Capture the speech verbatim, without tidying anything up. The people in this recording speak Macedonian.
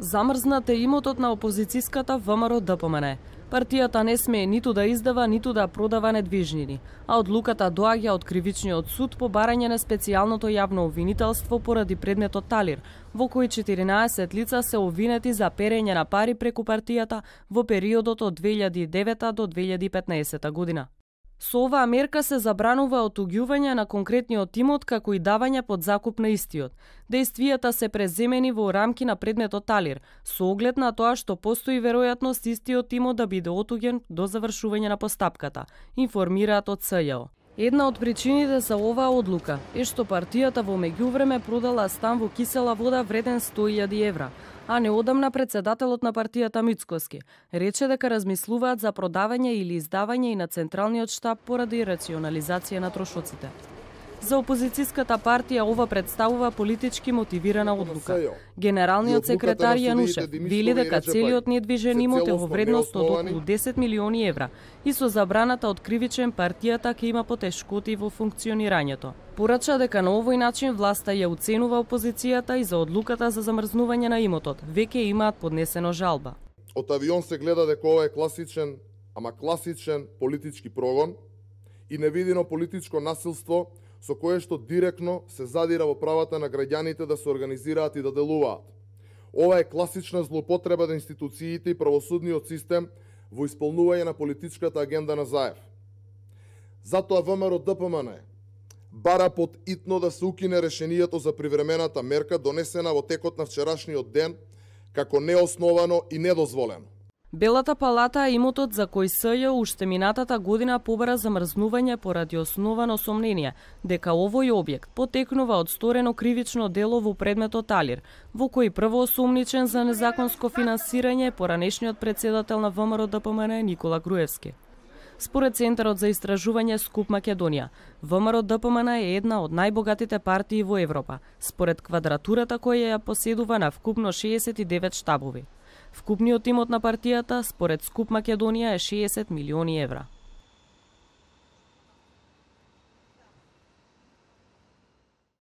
Замрзнат е имотот на опозицијската ВМРО-ДПМН. Партијата не смее ниту да издава, ниту да продава недвижнини, а одлуката доаѓа од кривичниот суд по барање на специјалното јавно обвинителство поради предметот Талир, во кој четиринаесет лица се обвинети за перење на пари преку партијата во периодот од две илјади и девета до две илјади и петнаесета година. Со оваа мерка се забранува отуѓување на конкретниот имот како и давање под закуп на истиот. Дејствијата се преземени во рамки на предметот Талир, со оглед на тоа што постои веројатност истиот имот да биде отуѓен до завршување на постапката, информираат од С Ј О. Една од причините за оваа одлука е што партијата во меѓувреме продала стан во Кисела Вода вреден сто илјади евра, а неодамна председателот на партијата Мицкоски рече дека размислуваат за продавање или издавање и на централниот штаб поради рационализација на трошоците. За опозицијската партија ова представува политички мотивирана одлука. Генералниот секретар Јанушев вели дека целиот недвижен имот е во вредност од околу десет милиони евра и со забраната од кривичен партијата ќе има потешкоти во функционирањето. Порача дека на овој начин власта ја уценува опозицијата и за одлуката за замрзнување на имотот веќе имаат поднесено жалба. Од авион се гледа дека ова е класичен, ама класичен политички прогон и невидено политичко насилство со кое што директно се задира во правата на граѓаните да се организираат и да делуваат. Ова е класична злоупотреба на институциите и правосудниот систем во исполнување на политичката агенда на Заев. Затоа ВМРО-ДПМН бара под итно да се укине решението за привремената мерка донесена во текот на вчерашниот ден како неосновано и недозволено. Белата палата имотот за кој С Ј уште минатата година побара замрзнување поради основано сомнение дека овој објект потекнува од сторено кривично дело во предметот Талир, во кој прво осумничен за незаконско финансирање поранешниот председател на ВМРО-ДПМН Никола Груевски. Според Центарот за истражување Скуп Македонија, ВМРО-ДПМН е една од најбогатите партии во Европа, според квадратурата која ја поседува на вкупно шеесет и девет штабови. Вкупниот имот на партијата, според Скуп Македонија, е шеесет милиони евра.